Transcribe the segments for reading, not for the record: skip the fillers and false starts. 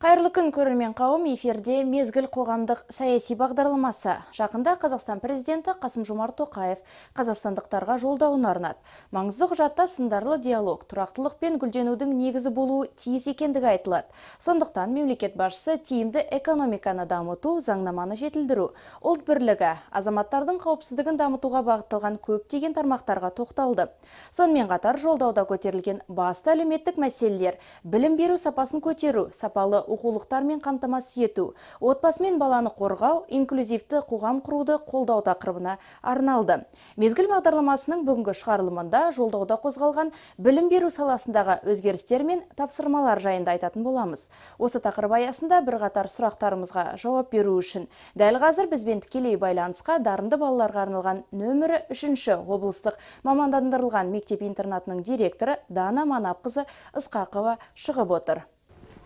Қайырлы күн көрермен қауым, эфирде мезгіл қоғамдық саяси бағдарламасы. Жақында Қазақстан президенті Қасым-Жомарт Тоқаев қазақстандықтарға жолдауын арнады. Маңызды құжатта сындарлы диалог, тұрақтылық пен гүлденудің негізі болуы тиіс екендігі айтылады. Сондықтан мемлекет басшысы тиімді экономиканы дамыту, заңнаманы жетілдіру, ұлт бірлігі, азаматтардың қауіпсіздігін дамытуға бағытталған көптеген тармақтарға тоқталды. Сонымен қатар жолдауда көтерілген басты әлеуметтік мәселелер, білім беру сапасын көтеру, сапалы оқулықтармен қамтамасыз ету, отбасы мен баланы қорғау, инклюзивті қоғам құруды қолдау тақырыбына арналды. Мезгіл бағдарламасының бүгінгі шығарылымында жолдауда қозғалған білім беру саласындағы өзгерістер мен тапсырмалар жайында айтатын боламыз. Осы тақырып аясында бірқатар сұрақтарымызға жауап беру үшін дәл қазір бізбен тікелей байланысқа дарынды балаларға арналған нөмірі 3-ші облыстық мамандандырылған мектеп-интернатының директоры Дана Манапқызы Ысқақова шығып отыр.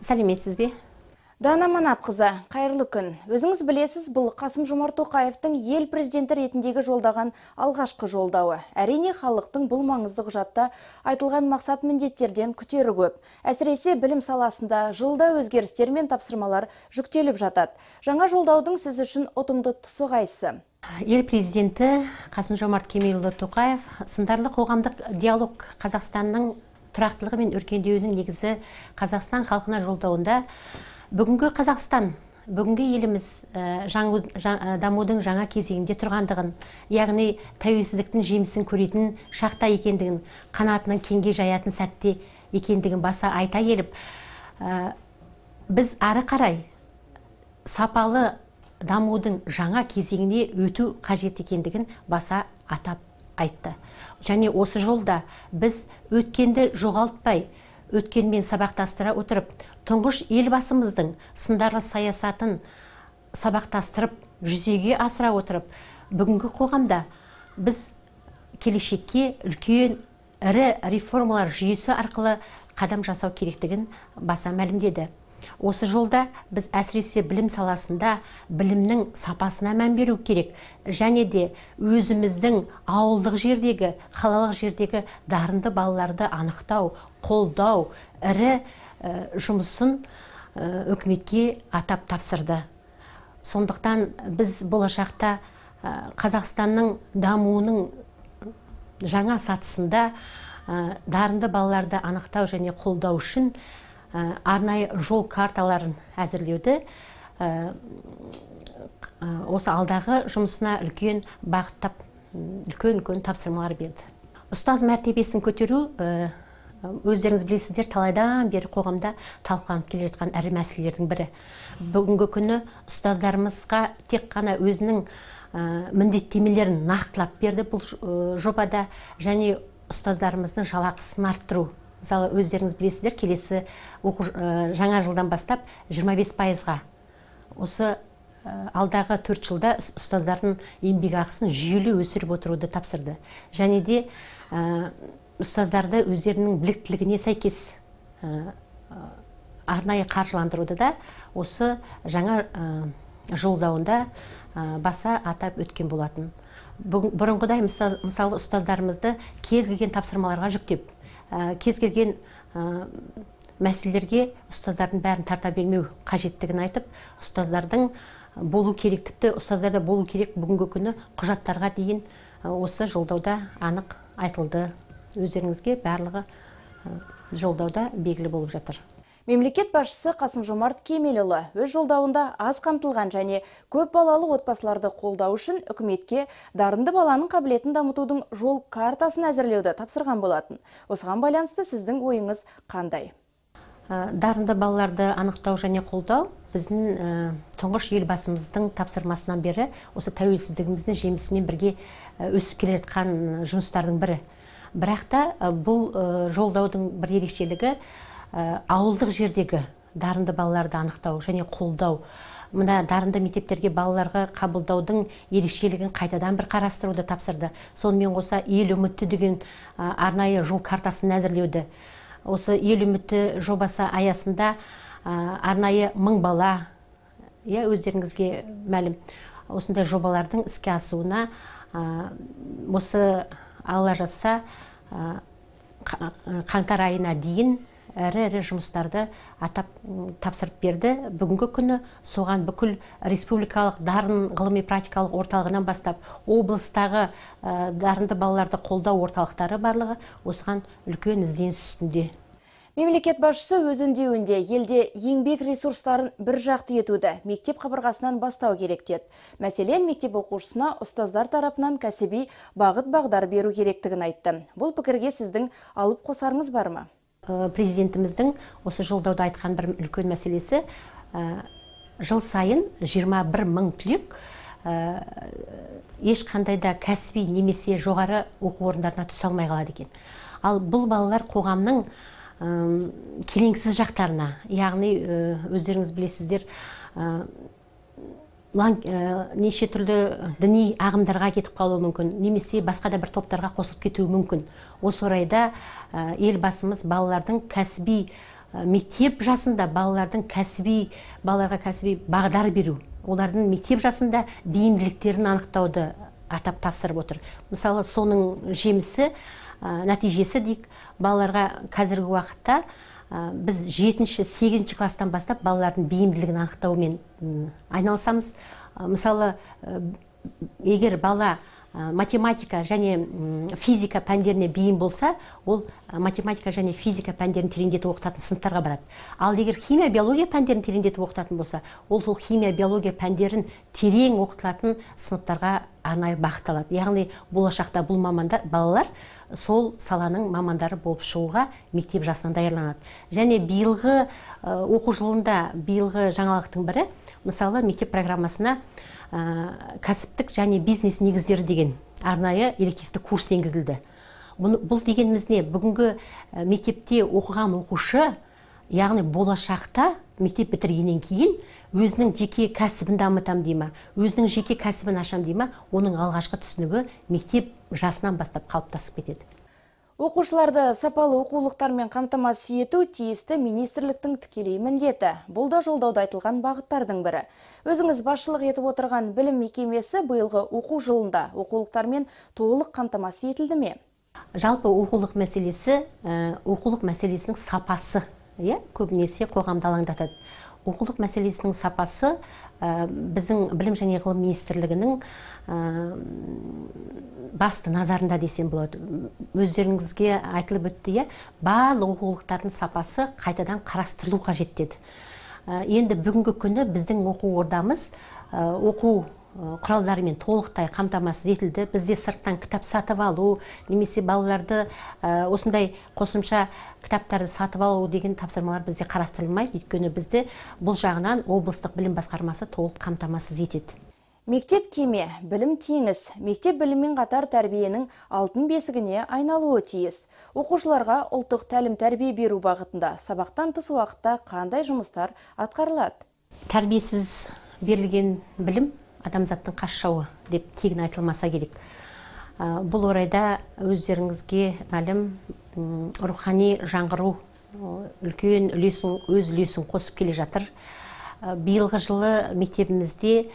Сәлеметсіз бе? Дана Манапқызы, қайырлы күн. Өзіңіз білесіз, бұл Қасым-Жомарт Тоқаевтың ел президенті ретіндегі жолдаған алғашқы жолдауы. Әрине, халықтың бұл маңызды құжатта айтылған мақсат міндеттерден күтері көп. Әсіресе білім саласында жылда өзгерістер мен тапсырмалар жүктеліп жатады. Жаңа жолдаудың сіз үшін ұтымды тұсы қайсысы? Ел президенті Қасым-Жомарт Кемелұлы Тоқаев сындарлы қоғамдық диалог Қазақстанның тұрақтылығы мен өркендеуінің негізі Қазақстан халқына жолдауында бүгінгі Қазақстан, бүгінгі еліміз дамудың жаңа кезеңінде тұрғандығын, яғни тәуелсіздіктің жемісін көретін шақта екендігін, қанатының кеңге жаятын сәтте екендігін баса айта келіп, біз ары қарай сапалы дамудың жаңа кезеңіне өту қажет екендігін баса атап айтты. Және осы жолда біз өткенді жоғалтпай, өткенмен сабақтастыра отырып, тұңғыш елбасымыздың сындарлы саясатын сабақтастырып, жүзеге асыра отырып, бүгінгі қоғамда біз келешекке үлкен ірі реформалар жүйесі арқылы қадам жасау керектігін баса мәлімдеді. Осы жолда біз әсіресе білім саласында білімнің сапасына мән беру керек, және де өзіміздің ауылдық жердегі, қалалық жердегі дарынды балаларды анықтау, қолдау, ірі жұмысын үкіметке атап тапсырды. Сондықтан біз болашақта Қазақстанның дамуының жаңа сатысында дарынды балаларды анықтау және қолдау үшін арнайы жол карталарын әзірлеуді осы алдағы жұмысына үлкен бағыттап, үлкен тапсырмалар берді. Ұстаз мәртебесін көтеру, өздеріңіз білесіздер, талайдан бері қоғамда талқыланып келе жатқан ірі мәселелердің бірі. Бүгінгі күні ұстаздарымызға тек қана өзінің міндеттемелерін нақтылап берді бұл жобада, және ұстаздарымыздың жалақысын арттыру. Мысалы, өздеріңіз білесіздер, келесі жаңа жылдан бастап 25%-ға. Осы алдағы 4 жылда ұстаздардың еңбек ақысын жүйелі өсіріп отыруды тапсырды. Және де ұстаздарды өздерінің біліктілігіне сәйкес арнайы қаржыландыруды да осы жаңа жолдауында баса атап өткен болатын. Бұрынғыдай мысалы ұстаздарымызды кез келген тапсырмаларға жүктеп, кез келген мәселелерге ұстаздардың бәрін тарта бермеу қажеттігін айтып, ұстаздардың болу керек, тіпті ұстаздарда болу керек бүгінгі күні құжаттарға дейін осы жолдауда анық айтылды. Өздеріңізге барлығы жолдауда белгілі болып жатыр. Мемлекет басшысы Қасым-Жомарт Кемелұлы өз жолдауында аз қамтылған және көп балалы отбасыларды қолдау үшін үкіметке дарынды баланың қабілетін дамытудың жол картасын әзірлеуді тапсырған болатын. Осыған байланысты сіздің ойыңыз қандай? Дарынды балаларды анықтау және қолдау біздің тұңғыш елбасымыздың тапсырмасынан бері осы тәуелсіздігіміздің жемісімен бірге өсіп келе жатқан жұмыстардың бірі. Бірақ та бұл жолдаудың бір ерекшелігі ауылдық жердегі дарынды балаларды анықтау және қолдау. Мына дарынды мектептерге балаларға қабылдаудың ерекшелігін қайтадан бір қарастыруды тапсырды. Сонымен қоса ел үміті деген арнайы жол картасын әзірлеуді. Осы ел үміті жобасы аясында арнайы 1000 бала өздеріңізге мәлім. Осындай жобалардың іске асуына осы алла жазса қаңтар айына дейін әрі жұмыстарды тапсырып берді. Бүгінгі күні соған бүкіл республикалық дарын ғылыми практикалық орталығынан бастап облыстағы дарынды балаларды қолдау орталықтары барлығы осыған үлкен ізденіс үстінде. Мемлекет басшысы өз үндеуінде елде еңбек ресурстарын бір жақты етуді мектеп қабырғасынан бастау керек деді. Мәселен, мектеп оқушысына ұстаздар тарапынан кәсіби бағыт-бағдар беру керектігін айтты. Бұл пікірге сіздің алып қосарыңыз бар ма? Президентіміздің осы жолдауда айтқан бір үлкен мәселесі, жыл сайын 21 мың түлек ешқандай да кәсіби немесе жоғары оқу орындарына түсе алмай қалады екен. Ал бұл балалар қоғамның келеңсіз жақтарына, яғни өздеріңіз білесіздер, неше түрлі діни ағымдарға кетіп қалуы мүмкін, немесе басқа да бір топтарға қосылып кетуі мүмкін. Осы орайда елбасымыз балалардың кәсіби мектеп жасында балаларға кәсіби бағдар беру, олардың мектеп жасында бейімділіктерін анықтауды атап тапсырып отыр. Мысалы, соның жемісі, нәтижесі дейік, балаларға қазіргі уақытта біз 7-8 класстан бастап балалардың бейімділігін анықтаумен айналысамыз. Мысалы, егер бала математика және физика пәндеріне бейім болса, ол математика және физика пәндерін тереңдетіп оқытатын сыныптарға барады. Ал егер химия, биология пәндерін тереңдетіп оқытатын болса, ол сол химия, биология пәндерін терең оқытылатын сыныптарға арнайы бағытталады. Яғни болашақта бұл балалар сол саланың мамандары болып шығуға мектеп жасынан даярланады. Және биылғы оқу жылында биылғы жаңалықтың бірі, мысалы, мектеп программасына кәсіптік және бизнес негіздері деген арнайы элективті курс енгізілді. Бұл дегеніміз не? Бүгінгі мектепте оқыған оқушы, яғни болашақта мектеп бітіргеннен кейін өзінің жеке кәсібін дамытам дейма, өзінің жеке кәсібін ашам дейма, оның алғашқы түсінігі мектеп жасынан бастап қалыптасып кетеді. Оқушыларды сапалы оқулықтармен қамтамасыз ету тиісті министрліктің тікелей міндеті. Бұл да жолдауда айтылған бағыттардың бірі. Өзіңіз басшылық етіп отырған білім мекемесі биылғы оқу жылында оқулықтармен толық қамтамасыз етілді ме? Жалпы оқулық мәселесінің сапасы көбінесе қоғамды алаңдатады. Оқулық мәселесінің сапасы біздің білім және ғылым министрлігінің басты назарында десем болады. Өздеріңізге айтылып өтті, барлық оқулықтардың сапасы қайтадан қарастырылу қажет деді. Енді бүгінгі күні біздің оқу ордамыз оқу құралдарымен толықтай қамтамасыз етілді. Бізде сырттан кітап сатып алу, немесе балаларды осындай қосымша кітаптарды сатып алу деген тапсырмалар бізде қарастырылмайды. Өйткені бізде бұл жағынан облыстық білім басқармасы толық қамтамасыз етеді. Мектеп кеме, білім теңіз. Мектеп біліммен қатар тәрбиенің алтын бесігіне айналуы тиіс. Оқушыларға ұлттық тәлім-тәрбие беру бағытында сабақтан тыс уақытта қандай жұмыстар атқарылады? Тәрбиесіз берілген білім адамзаттың қас жауы деп тегін айтылмаса керек. Бұл орайда өздеріңізге мәлім рухани жаңғыру үлкен өз үлесін қосып келе жатыр. Биылғы жылы мектебімізде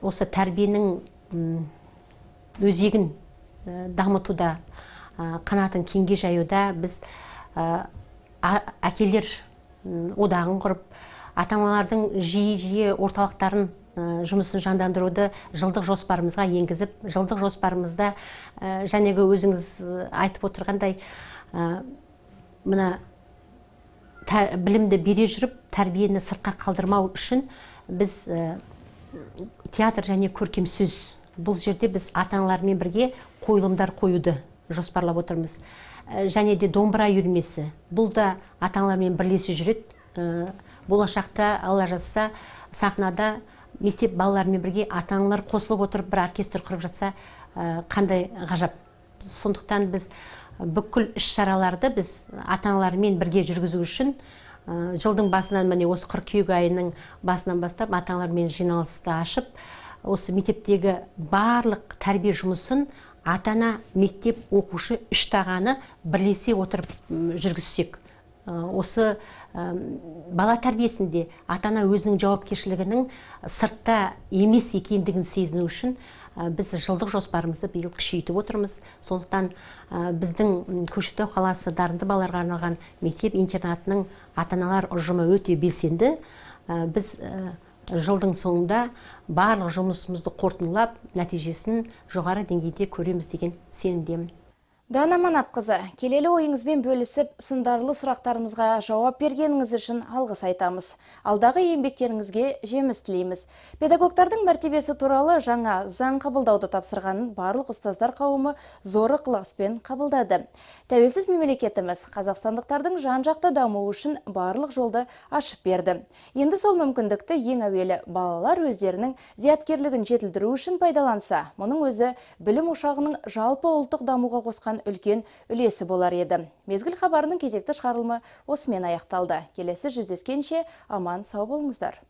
осы тәрбиенің өзегін дамытуда, қанатын кеңге жаюда біз әкелер одағын құрып, ата-аналардың жиі орталықтарын жұмысын жандандыруды жылдық жоспарымызға енгізіп, жылдық жоспарымызда жәнегі өзіңіз айтып отырғандай білімді бере жүріп, тәрбиені сыртқа қалдырмау үшін біз театр және көркем сөз. Бұл жерде біз ата-аналармен бірге қойылымдар қоюды жоспарлап отырмыз. Және де домбыра үйірмесі. Бұл да ата-аналармен бірлесе жүреді. Болашақта алла жазса сахнада мектеп балаларымен бірге ата-аналар қосылып отырып бір оркестр құрып жатса қандай ғажап. Сондықтан біз бүкіл іс-шараларды біз ата-аналармен бірге жүргізу үшін жылдың басынан, міне осы қыркүйек айының басынан бастап ата-аналармен жиналысты ашып, осы мектептегі барлық тәрбие жұмысын ата-ана, мектеп, оқушы үш тағаны бірлесе отырып жүргізсек. осы бала тәрбиесінде ата-ана өзінің жауапкершілігінің сыртта емес екендігін сезіну үшін біз жылдық жоспарымызды биыл күшейтіп отырмыз. Сондықтан біздің Көкшетау қаласы дарынды балаларға арналған мектеп-интернатының ата-аналар ұжымы өте белсенді. Біз жылдың соңында барлық жұмысымызды қорытындылап, нәтижесін жоғары деңгейде көреміз деген сенімдемін. Дана Манапқызы, келелі ойыңызбен бөлісіп, сындарлы сұрақтарымызға жауап бергеніңіз үшін алғыс айтамыз. Алдағы еңбектеріңізге жеміс тілейміз. Педагогтардың мәртебесі туралы жаңа заң қабылдауды тапсырғанын барлық ұстаздар қауымы зор ықыласпен қабылдады. Тәуелсіз мемлекетіміз қазақстандықтардың жан-жақты дамуы үшін барлық жолды ашып берді. Енді сол мүмкіндікті ең әуелі балалар өздерінің зияткерлігін жетілдіру үшін пайдаланса, мұның өзі білім ошағының жалпы ұлттық дамуға қосқан үлкен үлесі болар еді. Мезгіл хабарының кезекті шығарылымы осымен аяқталды. Келесі жүздескенше аман сау болыңыздар.